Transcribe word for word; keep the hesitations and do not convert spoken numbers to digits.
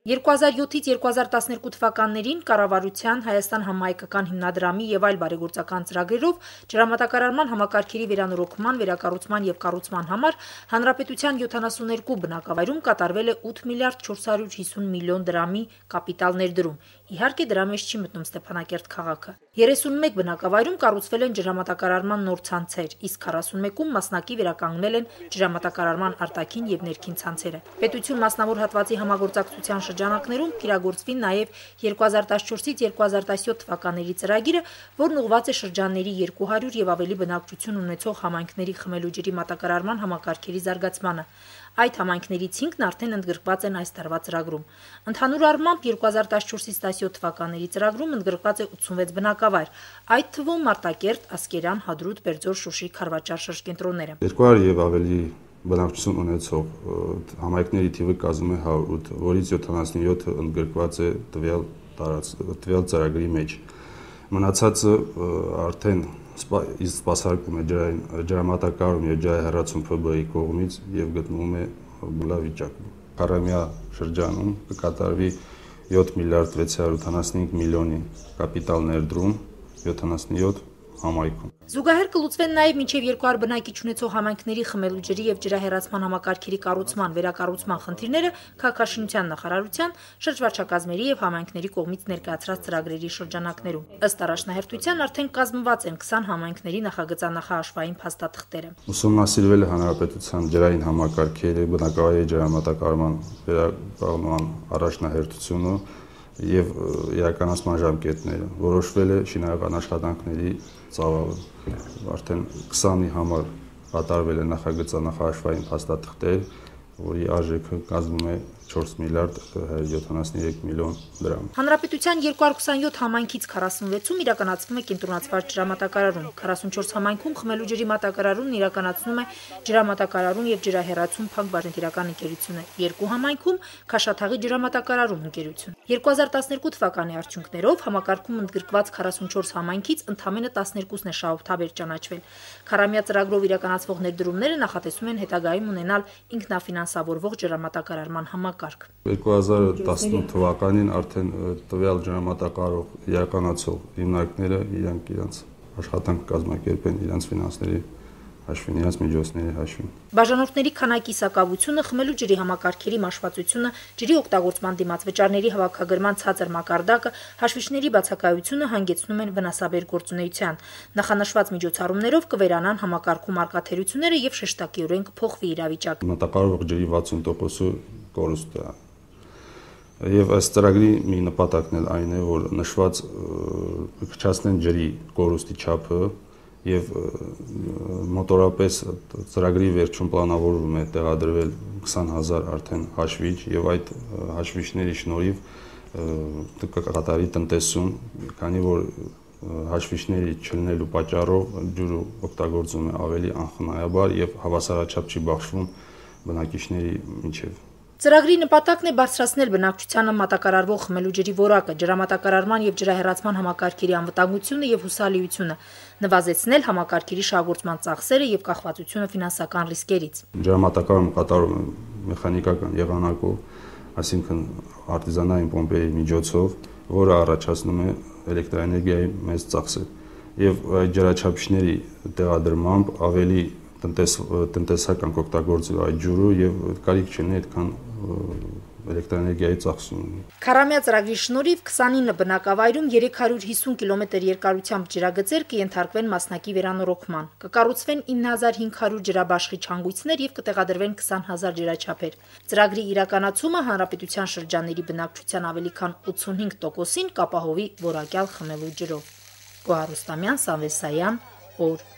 երկու հազար յոթից երկու հազար տասներկու թվականներին կառավարության, Հայաստան համահայկական հիմնադրամի եւ այլ բարեգործական ծրագրերով ջրամատակարարման համակարգերի վերանորոգման, վերակառուցման եւ կառուցման համար հանրապետության յոթանասուններկու բնակավայրում կատարվել է ութ միլիարդ չորս հարյուր հիսուն միլիոն դրամի կապիտալ ներդրում։ Իհարկե դրա մեջ չի մտնում Ստեփանակերտ քաղաքը։ երեսունմեկ բնակավայրում կառուցվել են ջրամատակարարման նոր ցանցեր, իսկ քառասունմեկում մասնակի վերականգնել են ջրամատակարարման արտաքին եւ ներքին ցանցերը։ Պետություն մասնավոր հատվածի համագործակցության շրջանակներում կիրագործվի նաեւ երկու հազար տասնչորսից երկու հազար տասնյոթ թվականների ծրագիրը, որն ուղղված է շրջանների երկու հարյուր եւ ավելի բնակչություն ունեցող համայնքների խմելու ջրի մատակարարման համակարգերի զարգացմանը։ Այդ համայնքներից հինգն արդեն ընդգրկված են այս տարվա ծրագրում։ Ընդհանուր առմամբ երկու հազար տասնչորսից տասնյոթ թվականների ծրագրում ընդգրկված է ութսունվեց բնակավայր, այդ թվում Մարտակերտ, Ասկերան, Հադրութ, Բերձոր, Շուշի, Խարվաճար շրջկենտրոնները։ երկու հարյուր եւ ավելի բնակչություն ունեցող համայնքների թիվը կազմում է հարյուր, որից յոթանասունյոթը ընդգրկված է տվյալ տվյալ ծրագրի մեջ։ Մնացածը արդեն իսկ սպասարկում է ջրամատակարարում եւ ջրահեռացում Ֆ B-ի կողմից եւ գտնվում է լավ վիճակում։ Քառամյա շրջանում կկատարվի յոթ միլիարդ վեց հարյուր ութանասունհինգ միլիոնի կապիտալ ներդրում յոթանասունյոթ համայնքում։ Զուգահեռ կլուծվեն նաև մինչև երկու հարյուր բնակիչ ունեցող համայնքների խմելու ջրի եւ ջրահեռացման համակարգերի կառուցման, վերակառուցման խնդիրները քաղաքաշինության նախարարության, շրջվարչակազմերի եւ համայնքների կողմից ներկայացրած ծրագրերի շրջանակներում։ Ըստ առաջնահերթության արդեն կազմված են քսան համայնքների նախագծանախահաշվային փաստաթղթերը։ Ուսումնասիրվել է հանրապետության ջրային համակարգերի բնակավայրի ջրամատակարարման վերակառուցման առաջնահերթությունը եւ իրականացման ժամկետները, որոշվել է շինարարական աշխատանքների ծավալը։ Արդեն քսանի համար կատարվել է նախագծանախահաշվային փաստաթղթեր, որի արժեքը կազմում է չորս միլիարդ հարյուր յոթանասունյոթ միլիոն դրամ։ Հանրապետության երկու հարյուր քսանյոթ համայնքից քառասունվեցում իրականացվում է կենտրոնացված ջրամատակարարում, քառասունչորս համայնքում խմելու ջրի մատակարարումն իրականացնում է ջրամատակարարում եւ ջրահեռացում Փակ Բաժնետիրական ընկերությունը, երկու համայնքում Քաշաթաղի ջրամատակարարում ընկերություն։ երկու հազար տասներկու թվականի արդյունքներով համակարգում ընդգրկված քառասունչորս համայնքից ընդամենը տասներկուսն է շահութաբեր ճանաչվել։ Քառամյա ծրագրով իրականացվող ներդրումները նախատեսում են հետագայում ունենալ ինքնաֆինանսավորվող ջրամատակարարման համակարգ։ երկու հազար տասնութ թվականին արդեն տվյալ ջրամատակարարող իրականացող հիմնարկները իրանք իրենց աշխատանք կազմակերպեն իրենց ֆինանսների հաշվին, իրենց միջոցների հաշվին։ Բաժանորդների քանակի սակավությունը, խմելու ջրի համակարգերի մաշվածությունը, ջրի օգտագործման դիմաց վճարների հավաքագրման ցածր մակարդակը, հաշվիչների բացակայությունը հանգեցնում են վնասաբեր գործունեության։ Նախանշված միջոցառումներով կվերանան համակարգում արկա թերությունները եւ շեշտակիորեն կփոխվի իրավիճակը։ Մատակարարող ջրի վաթսուն տոկոսը կորուստ է։ Եվ այս ծրագրի մի նպատակն էլ այն է, որ նշված կրճացնեն ջրի կորուստի չափը եւ մոտորապես ծրագրի վերջում պլանավորվում է տեղադրվել քսան հազար արդեն հաշվիչ եւ այդ հաշվիչների շնորհիվ կկատարվի տնտեսում, քանի որ հաշվիչների չլինելու պատճառով ջուրը օգտագործվում է ավելի անխնայաբար եւ հավասարաչափ չի բաշխվում բնակիչների միջև։ Ծրագրի նպատակն է բարձրացնել բնակչությանը մատակարարվող խմելու ջրի որակը, ջրամատակարարման եւ ջրահեռացման համակարգերի անվտանգությունը եւ հուսալիությունը, նվազեցնել համակարգերի շահագործման ծախսերը եւ կախվածությունը ֆինանսական ռիսկերից։ Ջրամատակարարումը կատարվում է մեխանիկական եղանակով, այսինքն արտիզանային պոմպերի միջոցով, որը առաջացնում է էլեկտրաէներգիայի մեծ ծախսեր եւ այդ ջրաչափիչների տեղադրմամբ ավելի տնտես տնտեսական կօգտագործել այդ ջուրը եւ կարիք չունի այդքան էլեկտրաէներգիայի ծախսում։ Քառամյա ծրագրի շնորհիվ քսանինը բնակավայրում երեք հարյուր հիսուն կիլոմետր երկարությամբ ջրագծեր կենթարկվեն մասնակի վերանորոգման, կկառուցվեն ինը հազար հինգ հարյուր ջրաբաշխի չանգույցներ եւ կտեղադրվեն քսան հազար ջրաչափեր։ Ծրագրի իրականացումը հանրապետության շրջանների բնակչության ավելի քան ութսունհինգ տոկոսին կապահովի որակյալ խմելու ջրով։ Գոհար Ռուստամյան, Սամվել Սայան, օր